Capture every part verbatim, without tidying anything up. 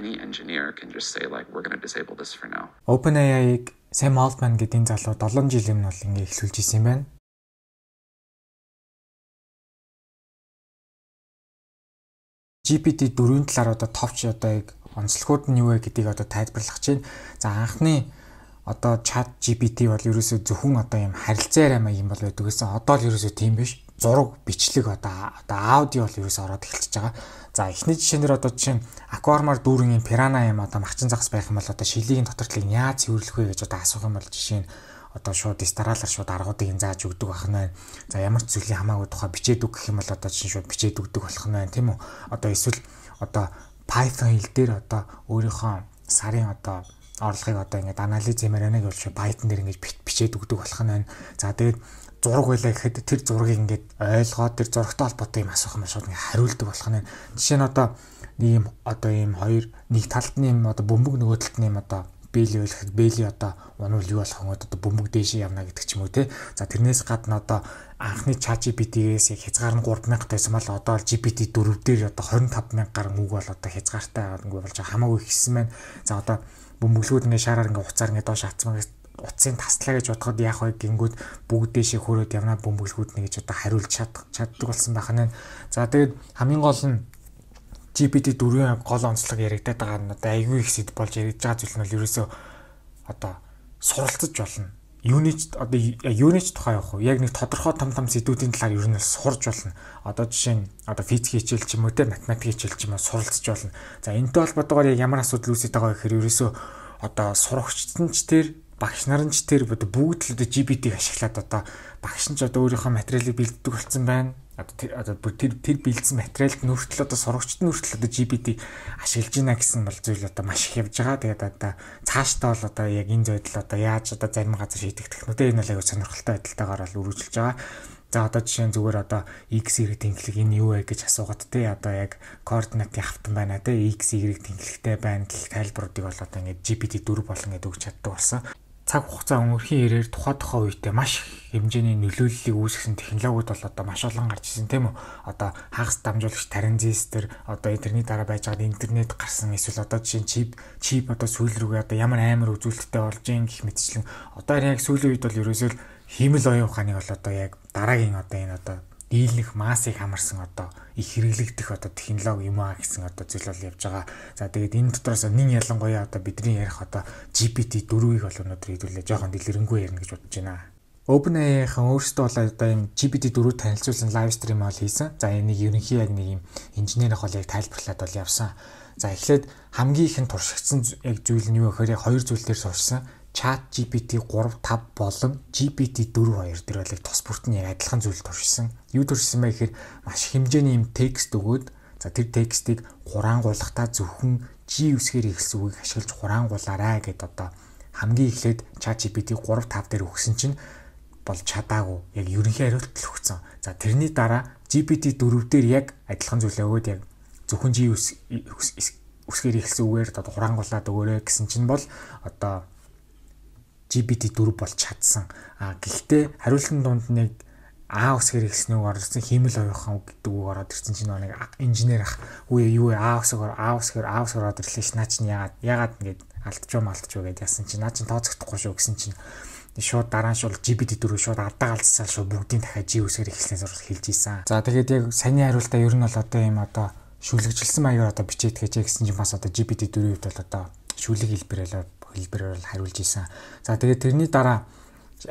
any engineer can just say like we're going to disable this for now. OpenAI-г Sam Altman гэдэг залуу долоон жилийн өмнө бол ингэ эхлүүлж ирсэн юм байна. джи пи ти дөрвийн талаар одоо товч одоо яг онцлогуд нь юу вэ гэдгийг одоо тайлбарлах чинь. За анхны одоо чат джи пи ти бол ерөөсөө зөвхөн одоо юм харилцаа арай юм бол байдаг гэсэн. Одоо л ерөөсөө тийм биш. Зураг, бичлэг одоо одоо аудио бол ерөөсөө ороод эхэлчихэж байгаа. За эхний жишээнээр одоо жишээ нь аквариумаар дүүрэн юм пирана юм одоо махчин загас байх юм бол одоо шилийн дотортлыг яаж цэвэрлэх вэ гэж одоо асуух юм бол жишээ нь одоо шууд дистаралаар шууд аргуудыг зааж өгдөг байх нь байна. За ямар ч зүйлийн хамаагүй тухай бичээд үг гэх юм бол одоо чинь шууд бичээд өгдөг болох нь байна тийм үү? Одоо эсвэл одоо Python хэл дээр одоо өөрийнхөө сарын одоо орлогыг одоо ингээд анализ хиймээр байна гэж Python дээр ингээд бичээд өгдөг болох нь байна. За тэгээд зураг байлаа гэхэд тэр зургийг ингээд ойлгоод тэр зурагтай холбоотой юм асуух юм шууд ингээд хариулдаг болох нь. Жишээ нь одоо ийм одоо ийм хоёр нэг талд нь юм одоо бөмбөг нөгөө талд нь юм одоо бэйли байлахад бэйли одоо унвал юу болох вэ одоо бөмбөг дээшээ явна гэдэг ч юм уу те. За тэрнээс гадна одоо анхны чат джи пи ти-гээс яг хязгаар нь гурван мянга тайсан бол одоо джи пи ти дөрөв дээр одоо двадцать пять мянга гаруй үг бол одоо хязгаартай ингээд болж хамаагүй ихсэн байна. За одоо бөмбөглүүд ингээд шаараар ингээд уцаар ингээд доош хатсмагаас утсын таслаа гэж бодоход яах вэ гингүүд бүгд дэшээ хөрөөд явна бөмбөглүүд нэг гэж одоо хариулж чадах чаддаг болсон байх нь. За тэгээд хамгийн гол нь джи пи ти дөрвийн гол онцлог яригадаад байгаа нь одоо айгүй их сэд болж яригдж байгаа зүйл нь бол ерөөсөө одоо суралцж болно. Юунич одоо юунич тухай явах вэ? Яг нэг тодорхой том том сэдвүүдийн талаар ер нь сурж болно. Одоо жишээ нь одоо физик хичээл ч юм уу те математик хичээл ч юм уу суралцж болно. За энэтэй холбоотойгоор яг ямар асуудал үүсэж байгаа гэхээр ерөөсөө одоо сурагчдын ч тэр багш нарын ч тэр бүгд л одоо джи пи ти-г ашиглаад одоо багш нь ч одоо өөрийнхөө материалыг бэлддэг болсон байна. Одоо тэр одоо тэр тэр бэлдсэн материалд нүртэл одоо сурагчд нүртэл одоо джи пи ти ашиглаж байна гэсэн бол зүйл одоо маш их явж байгаа. Тэгээд одоо цаашдаа бол одоо яг энэ зүйдэл одоо яаж одоо зарим газар шийдэх технологи энэ бол аягүй сонирхолтой байдалтайгаар бол үргэлжилж байгаа. За одоо жишээ нь зүгээр одоо x y тэнхлэг энэ юу вэ гэж асуугаад те одоо яг координатын хавтан байна те x y тэнхлэгтэй байна гэх тайлбаруудыг бол одоо ингээд джи пи ти дөрв болон гэдэг өгч чаддаг болсон. Цаг хугацаа өнгөрхийн ирээр тухай тухай үедээ маш хэмжээний нөлөөллийг үүсгэсэн технологиуд бол одоо маш олон гарч ирсэн тийм үү. Одоо хагас дамжуулагч транзистор одоо интернет дараа байж байгаа интернет гарсан эсвэл одоо жишээ чип чип одоо сүүл рүүгээ одоо ямар амар үзүүлэлттэй болж ийн гэх мэтчлэн одоо яг сүүлийн үед бол ерөөсөө хиймэл оюун ухааныг бол одоо яг дараагийн одоо энэ одоо дийлэнх массыг хамарсан одоо их хэрэглэгдэх одоо технологи юм аа гэсэн одоо зүйл бол явж байгаа. За тэгээд энэ дотроос нэг ялангуяа одоо бидний ярих одоо джи пи ти дөрвийг бол өнөөдөр хэдүүлээ жоохон дэлгэрэнгүй ярина гэж бодож байна. OpenAI-хан өөрсдөө бол одоо юм джи пи ти дөрвийг танилцуулсан лайв стрим бол хийсэн. За энийг ерөнхий яг нэг юм инженер ах бол яг тайлбарлаад бол явсан. За эхлээд хамгийн их нь туршигдсан яг зүйл нь юу гэхээр яг хоёр зүйл дээр суурьсан. Chat джи пи ти три, five болон джи пи ти four хоёр дээр бол тос бүрт нь яг адилхан зүйл туршсан. Юу туршсан бэ гэхээр маш хэмжээний юм текст өгөөд за тэр текстийг хураангуулахдаа зөвхөн G үсгээр эхэлсэн үгийг ашиглаж хураангуулаарай гэд одоо хамгийн эхлээд Chat джи пи ти три, five дээр өгсөн чинь бол чадаагүй. Яг ерөнхий хариулт л өгсөн. За тэрний дараа джи пи ти four дээр яг адилхан зүйлээ өгөөд яг зөвхөн G үсгээр эхэлсэн үгээр одоо хураангуулаад өгөөрэй гэсэн чинь бол одоо джи пи ти four бол чадсан. А гэхдээ хариултын дунд нэг А үсгээр ихснэг орсон хиймэл оюухан гэдэг үг ороод ирсэн чинь нэг инженер ах үе юу А үсгээр А үсгээр А үсгээр ороод ирлээ ш наа чинь яагаад яагаад ингэж алдчихв малтчихв гэдээ яасан чинь наа чинь тооцохдохгүй шүү гэсэн чинь шууд дараа нь шууд джи пи ти four шууд ардаа галзсаа шууд бүгдийн дахиад G үсгээр ихснээс орж хэлж ийсэн. За тэгээд яг саний хариултаа ер нь бол одоо юм одоо шүлэгжилсэн маягаар одоо бичээд гэжээ гэсэн чинь бас одоо джи пи ти four-ийн хувьд бол одоо шүлэг хэлбэрээр хэлбэрээр хариулж ийсэн. За тэгээд тэрний дараа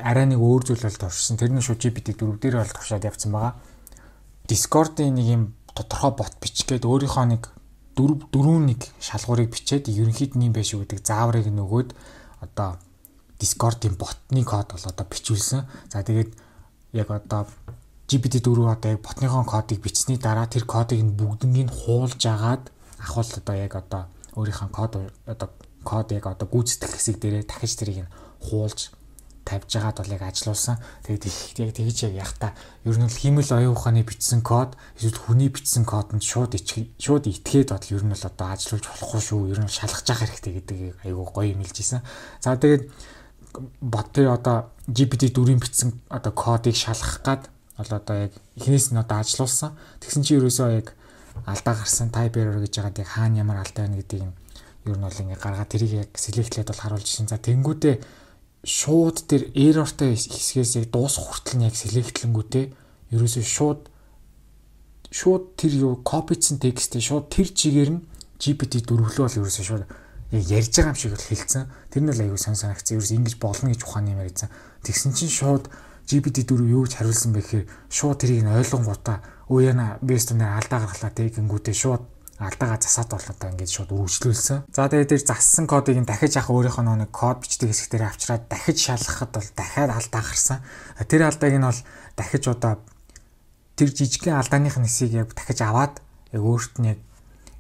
арай нэг өөр зүйл бол туршсан. Тэр нь шууд джи пи ти four дээр бол туршаад явцсан байгаа. Discord-ийн нэг юм тодорхой бот бичгээд өөрийнхөө нэг дөрвөн нэг шалгуурыг бичээд ерөнхийд нь юм байш гэдэг зааврыг нөгөөд одоо Discord-ийн ботны код бол одоо бичүүлсэн. За тэгээд яг одоо джи пи ти four одоо яг ботныхон кодыг бичсний дараа тэр кодыг нь бүгднийг хуулж агаад ахвал одоо яг одоо өөрийнхөө код одоо код яг одоо гүйцэтгэх хэсэг дээрээ дахиж тэрийг нь хуулж тавьж байгаад бол яг ажилуулсан. Тэгээд яг тэгж яг яхта ер нь л хиймэл оюун ухааны бичсэн код эсвэл хүний бичсэн кодонд шууд шууд итгээд бодол ер нь л одоо ажилуулж болохгүй шүү. Ер нь шалгаж явах хэрэгтэй гэдэг айгүй гоё юм хэлжсэн. За тэгээд бот дээр одоо джи пи ти four-ийн бичсэн одоо кодыг шалгах гад бол одоо яг эхнээс нь одоо ажилуулсан. Тэгсэн чинь ерөөсөө яг алдаа гарсан type error гэж байгаад яг хаана ямар алдаа байна гэдгийг ер нь бол ингээ гаргаад тэрийг яг селектлээд бол харуулж ирсэн. За тэнгүүдээ шууд тэр errorтай хэсгээс яг дуусах хүртэл нь яг селектлэнгүүтээ ерөөсөө шууд шууд тэр юу копицсэн текстээ шууд тэр чигээр нь джи пи ти дөрвөлөө бол ерөөсөө шууд яг ярьж байгаа юм шиг бол хэлсэн. Тэр нь л аюу сан санагцсан. Ерөөс ингэж болно гэж ухааны юм ярьсан. Тэгсэн чинь шууд джи пи ти дөрөв юу гэж хариулсан бэ гэхээр шууд тэрийг нь ойлгонгуудаа өө яна бест нэ алдаа гаргалаа тэгэнгүүтээ шууд алдаагаа засаад бол одоо ингэж шууд үргэлжлүүлсэн. За тэгээд тэр зассан кодыг нь дахиж яг өөрийнхөө нэг код бичдэг хэсэг дээр авчираад дахиж шалгахад бол дахиад алдаа гарсан. Тэр алдааг нь бол дахиж одоо тэр жижигхэн алдааных нэсийг яг дахиж аваад яг өөрт нь яг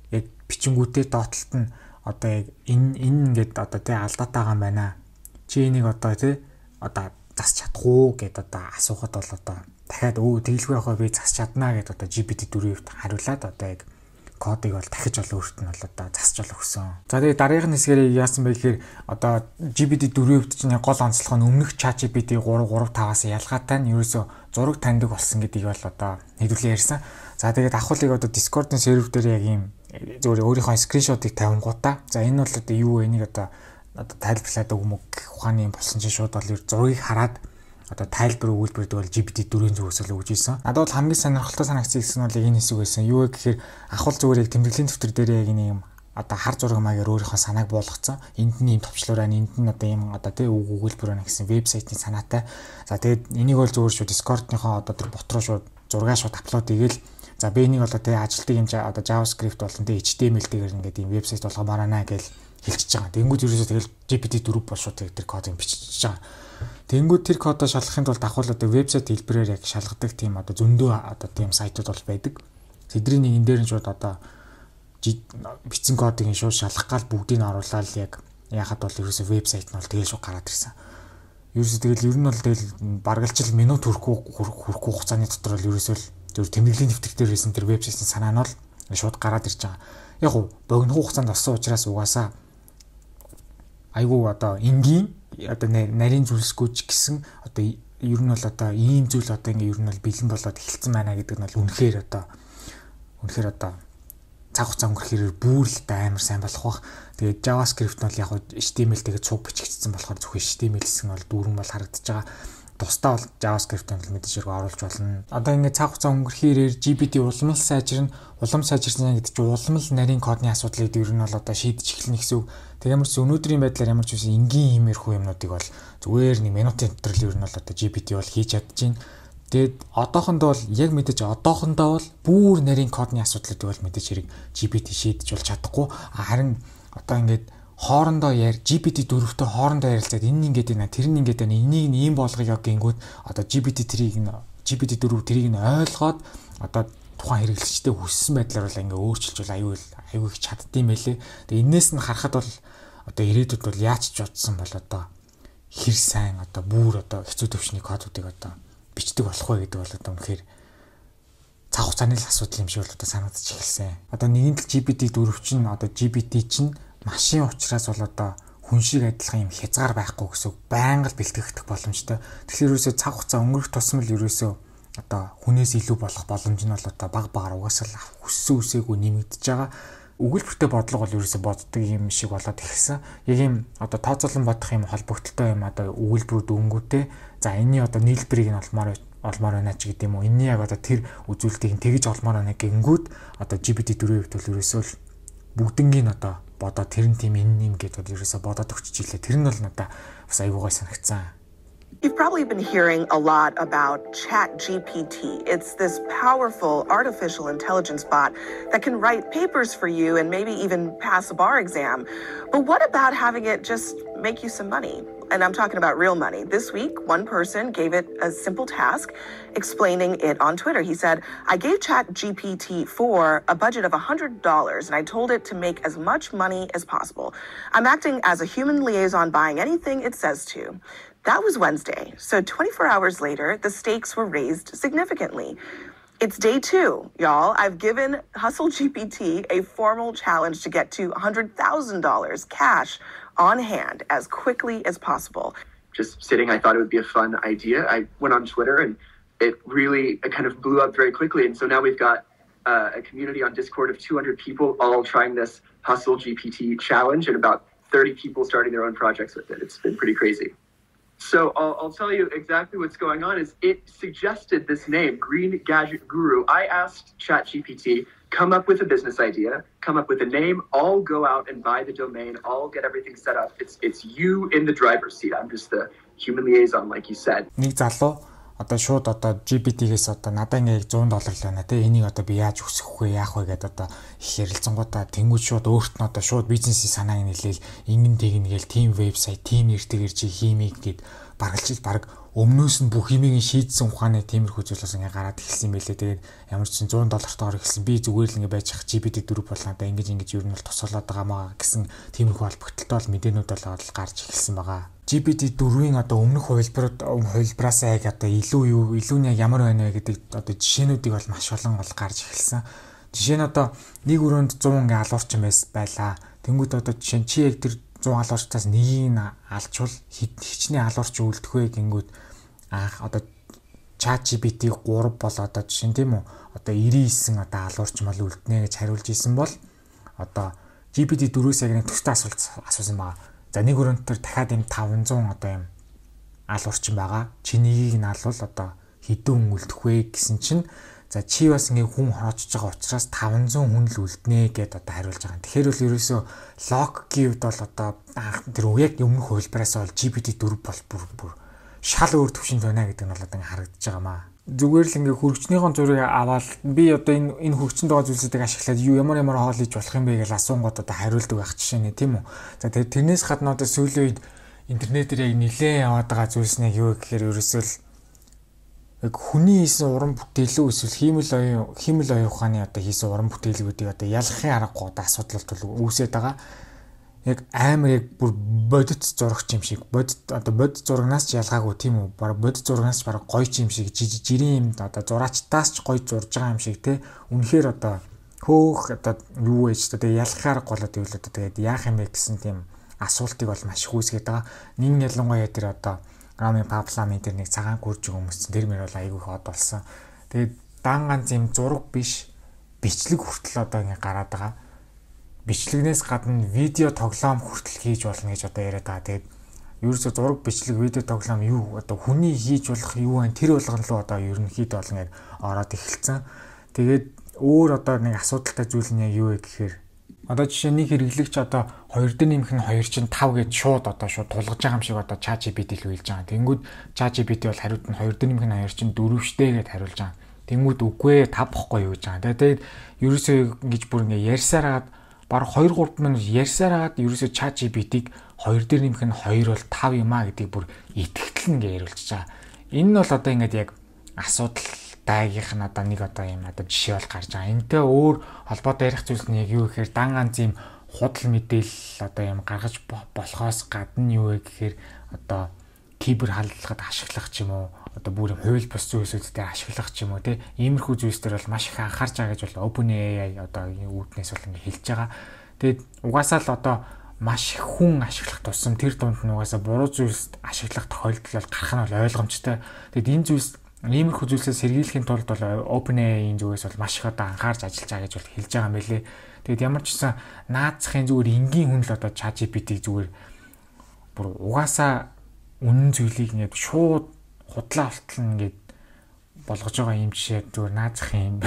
яг бичингүүтээ доотлолт нь одоо яг энэ энэ ингээд одоо тий алдаатайгаа юм байна. Чи энийг одоо тий одоо засч чадах уу гэд одоо асуухад бол одоо дахиад өө тэгэлгүй явахаа би засч чаднаа гэд одоо джи пи ти дөрөвт хариулаад одоо яг кодыг бол дахиж бол өөрт нь бол одоо засч бол өгсөн. За тэгээд дараагийн хэсгээр яасан бэ гэхээр одоо джи пи ти дөрөвт чинь гол онцлог нь өмнөх чат джи пи ти три три таваас ялгаатай нь ерөөсөө зураг таньдаг болсон гэдгийг бол одоо хэдүүлээ ярьсан. За тэгээд ахуулыг одоо Discord-ын сервер дээр яг ийм зөвхөн өөрийнхөө скриншотыг тавингуудаа. За энэ бол одоо юу вэ? Энийг одоо одоо тайлбарлаад өгмөг гэх ухааны юм болсон чинь шууд бол зургийг хараад одоо тайлбар өгүүлбэрдэг бол джи пи ти дөрвийн зүгээс л өгж ийсэн. Надад бол хамгийн сонирхолтой санагдсан хэсэг нь бол энэ хэсэг байсан. Юу вэ гэхээр ахвал зүгээр яг тэмдэглэлийн дэвтэр дээр яг нэг юм одоо хар зураг маягаар өөрийнхөө санааг буулгацсан. Энд нь юм товчлуураа энд нь одоо юм одоо тий үг өгүүлбэр байна гэсэн вебсайтын санаатай. За тэгээд энийг бол зүгээр шүү Discord-ныхоо одоо тэр бот руу шууд зургаа шууд апплод хийгээл. За би энийг одоо тий ажилтдаг юм одоо JavaScript болон тий эйч ти эм эл-ээр ингээд юм вебсайт болгомоор байна гэж хэлчихэж байгаа. Тэнгүүд ерөөсөө тэгэл джи пи ти дөрөв бол шууд тэр кодыг бичиж байгаа. Тэнгүүд тэр кодоо шалгахын тулд ахвал одоо вебсайт хэлбэрээр яг шалгадаг тийм одоо зөндөө одоо тийм сайтууд бол байдаг. Тэдний нэг энэ дээр нь шууд одоо бичсэн кодыг нь шууд шалгах гал бүгдийг нь оруулаад яг яхад бол ерөөсөө вебсайт нь бол тэгэл шууд гараад ирсэн. Ерөөсөө тэгэл ер нь бол тэгэл баргалжил минут хүрэхгүй хүрэхгүй хугацааны дотор бол ерөөсөө зөв тэмдэглэлийн дэвтэр дээр хийсэн тэр вебсайтын санаа нь бол шууд гараад ирж байгаа. Яг уу богино хугацаанд олсон учраас угаасаа айгуу одоо энгийн одоо нарийн зүйлсгүй ч гэсэн одоо ер нь бол одоо ийм зүйл одоо ингээ ер нь бол бэлэн болоод эхэлсэн байна гэдэг нь бол үнэхээр одоо үнэхээр одоо цаг хугацаа өнгөрөхөөр бүр л амар сайн болох бах. Тэгээд JavaScript нь бол яг эйч ти эм эл тэгээд цуг бичигдсэн болохоор зөвхөн эйч ти эм эл гэсэн бол дүүрэн бол харагдаж байгаа. Тусдаа бол JavaScript-ийг л мэдээж хэрэг оруулж болно. Одоо ингээд цаг хугацаа өнгөрөхөөр джи пи ти улам л сайжирна. Улам сайжирсан гэдэг чинь улам л нарийн кодны асуудлыг ер нь бол одоо шийдэж эхэлнэ гэсэн үг. Тэгэмэрч өнөөдрийн байдлаар ямар ч үсэн энгийн иймэрхүү юмнуудыг бол зүгээр нэг минутын дотор л ер нь бол одоо джи пи ти бол хийж чадчихээн. Тэгээд одоохондоо бол яг мэдээж одоохондоо бол бүр нарийн кодны асуудлыг бол мэдээж хэрэг джи пи ти шийдэж бол чадахгүй. Харин одоо ингээд хоорондоо яар джи пи ти дөрөвтэй хоорондоо ярилцаад энэ ингээд байна тэр нь ингээд байна энийг нь ийм болгоё гингүүд одоо джи пи ти трийг нь джи пи ти дөрөв трийг нь ойлгоод одоо тухайн хэрэглэгчтэй хүссэн байдлаар бол ингээ өөрчилж бол аюул аюул их чаддсан байлээ. Тэгээ энээс нь харахад бол одоо ирээдүйд бол яаж ч бодсон бол одоо хэр сайн одоо бүр одоо хэцүү төвчний кодуудыг одоо бичдэг болох вэ гэдэг бол одоо үнэхээр цаг хугацааны л асуудал юм шиг бол одоо санагдаж эхэлсэн. Одоо нэгэн л джи пи ти дөрөв чинь одоо джи пи ти чинь машин учраас бол одоо хүн шиг адилхан юм хязгаар байхгүй гэсэн байнга л бэлтгэгдэх боломжтой. Тэгэхээр ерөөсөө цаг хугацаа өнгөрөх тусам л ерөөсөө одоо хүнээс илүү болох боломж нь бол одоо баг багаар угаасаа л хүссэн үсээгүй нэмэгдэж байгаа. Өгүүлбэртэй бодлого бол ерөөсөө боддог юм шиг болоод эхэлсэн. Яг юм одоо тооцоолон бодох юм холбогдолтой юм одоо өгүүлбэрүүд өнгөтэй. За энэний одоо нийлбэрийг нь олмоор олмоор байна ч гэдэг юм уу. Энэний яг одоо тэр үзүүлэлтийг тэгж олмоор байна гингүүд одоо джи пи ти дөрөв хэвд бол ерөөсөө л бүгднгийн одоо бодоо тэр нь тийм энэ юм гэдэг ерөөсөө бодоод өгч ийлээ. Тэр нь бол надаа бас аюугай санагцсан. You've probably been hearing a lot about ChatGPT. It's this powerful artificial intelligence bot that can write papers for you and maybe even pass a bar exam. But what about having it just make you some money? And I'm talking about real money. This week, one person gave it a simple task, explaining it on Twitter. He said, I gave ChatGPT four a budget of one hundred dollars, and I told it to make as much money as possible. I'm acting as a human liaison, buying anything it says to. That was Wednesday. So twenty-four hours later, the stakes were raised significantly. It's day two, y'all. I've given Hustle G P T a formal challenge to get to one hundred thousand dollars cash on hand as quickly as possible. Just sitting, I thought it would be a fun idea. I went on Twitter and it really it kind of blew up very quickly. And so now we've got uh, a community on Discord of two hundred people all trying this Hustle G P T challenge, and about thirty people starting their own projects with it. It's been pretty crazy. So I'll, I'll tell you exactly what's going on. Is it suggested this name, Green Gadget Guru. I asked ChatGPT, come up with a business idea, come up with a name, all go out and buy the domain, all get everything set up. It's it's you in the driver's seat. I'm just the human liaison, like you said. Нэг залуу одоо шууд одоо джи пи ти-гээс одоо надад ингээ one hundred доллар л байна те энийг одоо би яаж өсгөх вэ яах вэ гэдээ одоо их ярилцсангуудаа тэнгууд шууд өөрт нь одоо шууд бизнесийн санааг нийлээл ингэн тэгнгээл team вебсайт team нэртэйгэр чи хиймийг гээд баргалж баг өмнөөс нь бүх юмыг шийдсэн ухааны тиймэрхүү зүйлээс ингээ гараад эхэлсэн байлээ. Тэгээд ямар ч one hundred доллартаар эхэлсэн би зүгээр л ингээ байж ах джи пи ти four болоо одоо ингэж ингэж юу нь бол тусалаад байгаа маа гэсэн тиймэрхүү холбогдолтой бол мэдээнүүд бол гарч эхэлсэн байгаа. джи пи ти four-ийн одоо өмнөх хувилбарууд хувилбараас яг одоо илүү юу илүү нь ямар байна вэ гэдэг одоо жишээнүүдийг бол маш олон бол гарч эхэлсэн. Жишээ нь одоо нэг өрөөнд one hundred ингээ алуурчин байлаа. Тэнгүүд одоо жишээ нь чи яг тэр one hundred алуурчтаас нэгийг нь алчвал хичнээн алуурч үлдэх вэ гингүүд анх одоо чат джи пи ти three бол одоо жишээ нь тийм үү одоо ninety-nine одоо алуурч мал үлднэ гэж хариулж исэн бол одоо джи пи ти four-өөс яг нэг төстэй асуулт асуусан байгаа. За нэг өрөөнд төр дахиад юм five hundred одоо юм алуурчин байгаа. Чи нэгийг нь алвал одоо хэдэн үлдэх вэ гэсэн чинь за чи бас ингээ хүн хороочж байгаа учраас five hundred хүн л үлднэ гэдээ одоо хариулж байгаа. Тэгэхээр бол ерөөсөө лог гівд бол одоо тэр яг өмнөх хувилбараас бол джи пи ти four бол бүр бүр шал өөр төвшөнд байна гэдэг нь бол одоо харагдаж байгаа маа. Зүгээр л ингээ хөргөчнийхон зургийг аваад би одоо энэ энэ хөргөчөнд байгаа зүйлсүүдийг ашиглаад юу ямар ямар хоол хийж болох юм бэ гэж асуунгууд одоо хариулдаг байх жишээ нэ тийм үү. За тэгээд тэрнээс гадна одоо сүүлийн үед интернетээр яг нилээн яваад байгаа зүйлс нэг юу гэхээр ерөөсөө л яг хүний хийсэн уран бүтээлөө эсвэл хиймэл оюун хиймэл оюун ухааны одоо хийсэн уран бүтээлүүдийг одоо ялахын аргагүй одоо асуудал бол үүсээд байгаа. Яг амар яг бүр бодит зурагч юм шиг бодит одоо бодит зурагнаас ч ялгаагүй тийм үү баг бодит зурагнаас ч баг гоё ч юм шиг жирийн юм одоо зураачтаас ч гоё зурж байгаа юм шиг те үнэхээр одоо хөөх одоо юу вэ ч одоо ялахаар голоод ивэл одоо тэгээд яах юм бэ гэсэн тийм асуултыг бол маш их үүсгээд байгаа. Нэг ялангуяа тэр одоо Рами Паплами тэр нэг цагаан гүрж өмссөн тэр мөр бол айгүй хот болсон. Тэгээд дан ганц юм зураг биш бичлэг хүртэл одоо ингэ гараад байгаа. Бичлэгнээс гадна видео тоглоом хүртэл хийж болно гэж одоо яриад байгаа. Тэгээд ерөөсө зураг бичлэг видео тоглоом юу одоо хүний хийж болох юу вэ? Тэр болгон руу одоо ерөнхийдөө бол ингэ ороод эхэлсэн. Тэгээд өөр одоо нэг асуудалтай зүйл нь юу вэ гэхээр одоо жишээ нэг хэрэглэгч одоо two дээр нэмэх нь two чинь five гэж шууд одоо шууд тулгаж байгаа юм шиг одоо чат джи пи ти л хэлж байгаа. Тэнгүүд чат джи пи ти бол хариулт нь two дээр нэмэх нь two чинь four штэ гэд хариулж байгаа. Тэнгүүд үгүй five бохгүй юу гэж байгаа. Тэгээд ерөөсөө ингэж бүр ингэ ярьсараад баг two three минут ярьсараад ерөөсөө чат джи пи тиг two дээр нэмэх нь two бол five юм а гэдгийг бүр итгэл нь ярьулж байгаа. Энэ нь бол одоо ингэж яг асуудал даагийнх нь одоо нэг одоо юм одоо жишээ бол гарч байгаа. Энтэй өөр холбоотой ярих зүйл нь яг юу гэхээр дан ганц юм худал мэдээлэл одоо юм гаргаж болохоос гадна юу вэ гэхээр одоо кибер халдлагад ашиглах ч юм уу одоо бүр хууль бус зүйлсүүдээр ашиглах ч юм уу те иймэрхүү зүйлсээр бол маш их анхаарч байгаа гэж бол OpenAI одоо үүднээс бол ингэ хэлж байгаа. Тэгээд угаасаа л одоо маш их хүн ашиглах тусам тэр дунд нь угаасаа буруу зүйлс ашиглах тохиолдол бол гарах нь бол ойлгомжтой. Тэгээд энэ зүйлс иймэрхүү зүйлсээс сэргийлэхийн тулд бол OpenAI-ийн зүгээс бол маш их одоо анхаарч ажиллаж байгаа гэж бол хэлж байгаа юм байлээ. Тэгэд ямар ч гэсэн наацхийн зүгээр энгийн хүн л одоо чат джи пи ти зүгээр бүр угаасаа үнэн зүйлийг ингээд шууд худлаа болтол ингээд болгож байгаа юм жишээ зүгээр наацх юм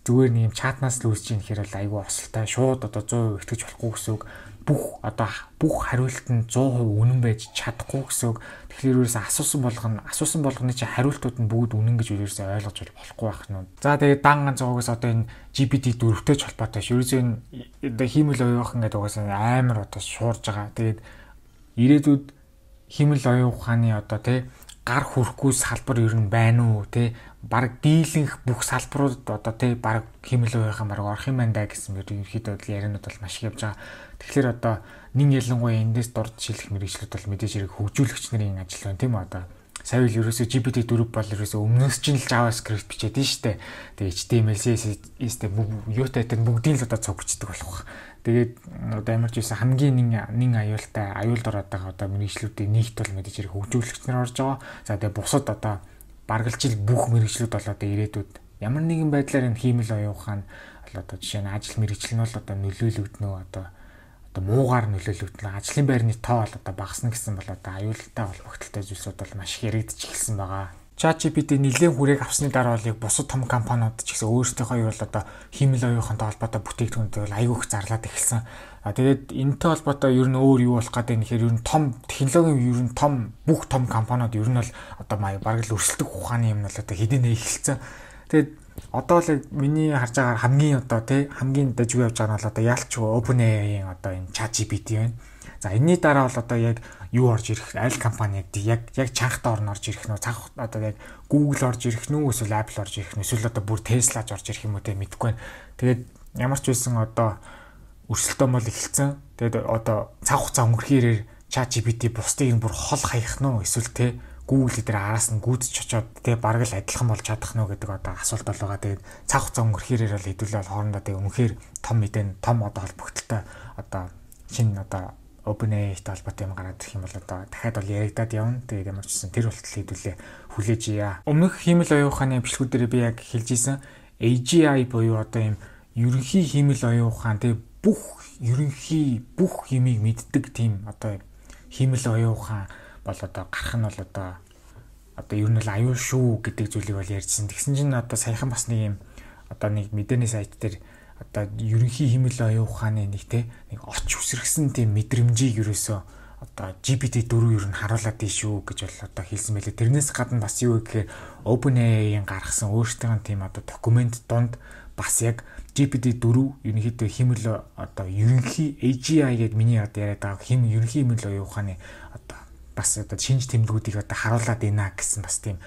зүгээр нэг юм чатнаас л үүсэж ийн гэхээр л айгүй осолтой шууд одоо one hundred percent итгэж болохгүй гэсэн үг. Бүх одоо бүх хариулт нь one hundred percent үнэн байж чадахгүй гэсэн үг. Тэгэхээр ерөөсөө асуусан болгоно асуусан болгоны чи хариултууд нь бүгд үнэн гэж ерөөсөө ойлгож болохгүй байх нь. За тэгээд дан ганц зоогоос одоо энэ джи пи ти four-тэй ч холбоотой ш. Ерөөсөө энэ хиймэл оюухан гэдэг угаасаа амар одоо шуурж байгаа. Тэгээд ирээдүйд хиймэл оюун ухааны одоо тий гар хүрхгүй салбар ер нь байна уу тий баг дийлэнх бүх салбарууд одоо тий баг хиймэл оюухан баг орох юм байна да гэсэн мэт ерөөхдөө яриануд бол маш их явж байгаа. Тэгэхээр одоо нэг ялангуяа эндээс дурд шилэх мэргэжлүүд бол мэдээж хэрэг хөгжүүлэгч нарын ажил байна тийм үү одоо сая л ерөөсөө джи пи ти four бол ерөөсөө өмнөөс чинь л JavaScript бичээд нь штэ. Тэгээ эйч ти эм эл, си эс эс-тэй юутай тэр бүгдийг л одоо цугчдаг болох. Тэгээд одоо ямар ч байсан хамгийн нэг нэг аюултай аюулд ороод байгаа одоо мэргэжлүүдийн нийт бол мэдээж хэрэг хөгжүүлэгч нар орж байгаа. За тэгээ бусад одоо баргалжил бүх мэргэжлүүд бол одоо ирээдүйд ямар нэгэн байдлаар энэ хиймэл оюун ухаан одоо жишээ нь ажил мэргэжил нь бол одоо нөлөөлөгднө одоо одоо муугаар нөлөөлөгднө ажлын байрны тоо бол одоо багасна гэсэн бол одоо аюултай холбогдолтой зүйлсүүд бол маш их яригдчих эхэлсэн байгаа. ChatGPT нэлээд хүрээг авсны дараа бол яг бусад том компаниуд ч гэсэн өөрсдийнхөө ер бол одоо хиймэл оюухантай холбоотой бүтээгдэхүүнтэй бол айгүйх зарлаад эхэлсэн. А тэгээд энэтэй холбоотой ер нь өөр юу болох гэдэг нэхэр ер нь том технологийн ер нь том бүх том компаниуд ер нь бол одоо бараг л өрсөлдөх ухааны юм бол одоо хэдийнэ эхэлсэн. Тэгээд одоо л миний харж байгаагаар хамгийн одоо тий хамгийн дажгүй явж байгаа нь бол одоо яалч OpenAI-ийн одоо энэ ChatGPT байна. За энэний дараа бол одоо яг юу орж ирэх аль компани яг яг чанхтаа орно орж ирэх нөө цаг одоо яг Google орж ирэх нүү эсвэл Apple орж ирэх нүү эсвэл одоо бүр Tesla орж ирэх юм уу те мэдэхгүй байна. Тэгээд ямар ч байсан одоо өрсөлдөөн бол эхэлсэн. Тэгээд одоо цаг хугацаа өнгөрөхөөр ChatGPT бусдыг нь бүр хол хаях нөө эсвэл те Google дээр араас нь гүйдэж очоод те бараг л адилхан болж чадах нөө гэдэг одоо асуулт бол байгаа. Тэгээд цаг хугацаа өнгөрөхөөр бол хэдүүлээ бол хоорондоо тэг үнэхээр том мэдэн том одоо холбогдолтой одоо шинэ одоо OpenAI-тэй холбоотой юм гараад ирэх юм бол одоо дахиад бол яригадаад явна. Тэгээд ямар ч гэсэн тэр болтол хэдүүлээ хүлээж ия. Өмнөх хиймэл оюун ухааны бичлэгүүд дээр би яг хэлж ийсэн A G I буюу одоо юм ерөнхий хиймэл оюун ухаан тэг бүх ерөнхий бүх юмыг мэддэг тийм одоо хиймэл оюун ухаан бол одоо гарах нь бол одоо одоо ер нь бол аюул шүү гэдэг зүйлийг бол ярьжсэн. Тэгсэн чинь одоо саяхан бас нэг юм одоо нэг мэдээний сайт дээр одоо ерөнхий хиймэл оюун ухааны нэг те нэг оч үсрэгсэн тийм мэдрэмжийг ерөөсөө одоо G P T four ер нь харуулад ий шүү гэж бол одоо хэлсэн байлээ. Тэрнээс гадна бас юу гэхээр OpenAI-ийн гаргасан өөрсдийн тийм одоо документ донд бас яг G P T four ерөнхийдөө хиймэл одоо ерөнхий A G I гэдэг миний одоо яриад байгаа хэм ерөнхий хиймэл оюун ухааны одоо бас одоо шинж тэмдгүүдийг одоо харуулад ийна гэсэн бас тийм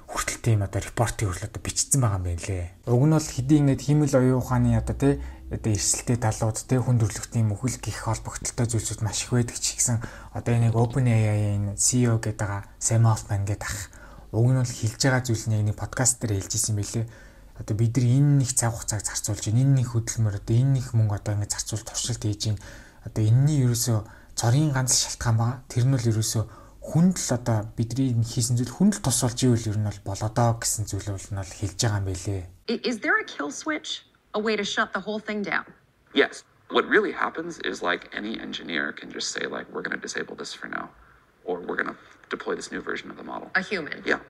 хүртэл тийм одоо репортыг хүртэл одоо бичсэн байгаа юм байна лээ. Уг нь бол хэдий ингээд хиймэл оюун ухааны одоо тий одоо эрсдэлтэй талууд тий хүн төрөлхтний мөхөл гих холбогдолтой зүйлсүүд маш их байдаг ч гэсэн одоо энэ OpenAI-ийн C E O гэдэг байгаа Sam Altman гэдэг ах уг нь бол хэлж байгаа зүйл нь яг нэг подкаст дээр хэлж ирсэн байлээ. Одоо бид нар энэ нэг цаг хугацааг зарцуулж байна. Энэ нэг хөдөлмөр одоо энэ нэг мөнгө одоо ингээд зарцуул туршилт хийж байна. Одоо энэний ерөөсөө цорын ганц шалтгаан байгаа. Тэр нь бол ерөөсөө хүнд л одоо бидний хийсэн зүйл хүнд л тус болж ивэл ер нь бол болоодоо гэсэн зүйл бол нь бол хэлж байгаа юм байлээ. Is there a kill switch? A way to shut the whole thing down? Yes. What really happens is like any engineer can just say like we're going to disable this for now or we're going to deploy this new version of the model. A human. Yeah.